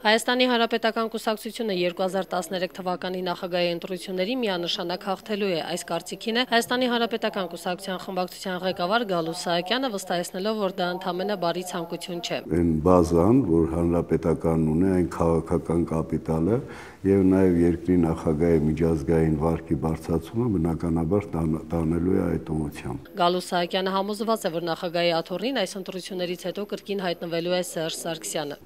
Հայաստանի Հանրապետական կուսակցությունը 2013 թվականի նախագահի ընտրությունների միանշանակ հաղթելու է։ Այս կարծիքին է Հայաստանի Հանրապետական կուսակցության խմբակցության ղեկավար Գալուստ Սահակյանը, վստահեցնելով, որ դա ընդամենը բարի ցանկություն չէ։ Այն բազան, որ Հանրապետականն ունի, այն քաղաքական կապիտալը եւ նաեւ երկրի նախագահի միջազգային վարկի բարձրացումը բնականաբար տանելու է այդ ուղղությամբ։ Գալուստ Սահակյանը համոզված է, որ նախագահի աթոռին այս ընտրություններից հետո կրկին հայտնվելու է Սերժ Սարգսյանը։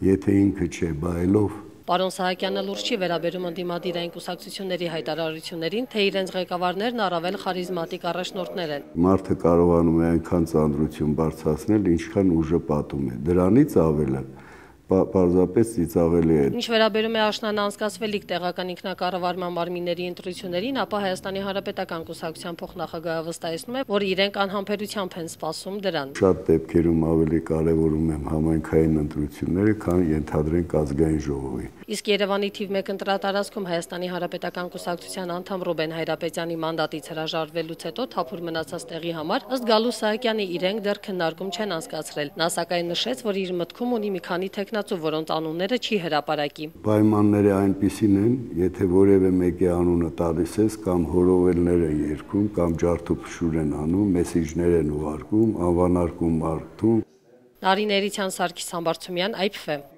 Եթե ինքը չէ բայելով Պարոն Սահակյանը լուրջ չի վերաբերում ընդդիմադիր այն կուսակցությունների հայտարարություններին, թե իրենց ղեկավարներն առավել խարիզմատիկ առաջնորդներ են։ Մարդը կարողանում է այնքան ծանրություն բարձրացնել, ինչքան ուժը պատում է։ Դրանից ավելը պարզապես ծիծաղելի է։ Ինչ վերաբերում է աշնանը անցկացվելիք տեղական ինքնակառավարման մարմինների ընտրություններին, ապա Հայաստանի Հանրապետական կուսակցության փոխնախագահը վստահեցնում է, որ իրենք անհամբերությամբ են սպասում դրան։ Շատ դեպքերում ավելի կարևորում եմ համայնքային ընտրությունները, քան ենթադրենք ազգային ժողովի։ Իսկ Երևանի թիվ 1 ընտրատարածքում Հայաստանի Հանրապետական կուսակցության անդամ Ռուբեն Հայրապետյանի մանդատից հրաժարվելուց հետո թափուր մնացած տեղի համար ըստ Գալուստ Սահակյանի իրենք դեռ քննարկում չեն անցկացրել։ Նա սակայն նշեց, որ իր մտքում ունի մի քանի թեկնածու, որոնց անունները չի հրապարակի։ Պայմանները այնպիսին են, եթե որևէ մեկի անունը տալիս ես, կամ հորովելներ են երգում, կամ ջարդուփշուր են անում, մեսիջներ են ուղարկում, անվանարկում մարդուն։ Նարին Էրիցյան, Սարգիս Համբարձումյան, IPFM։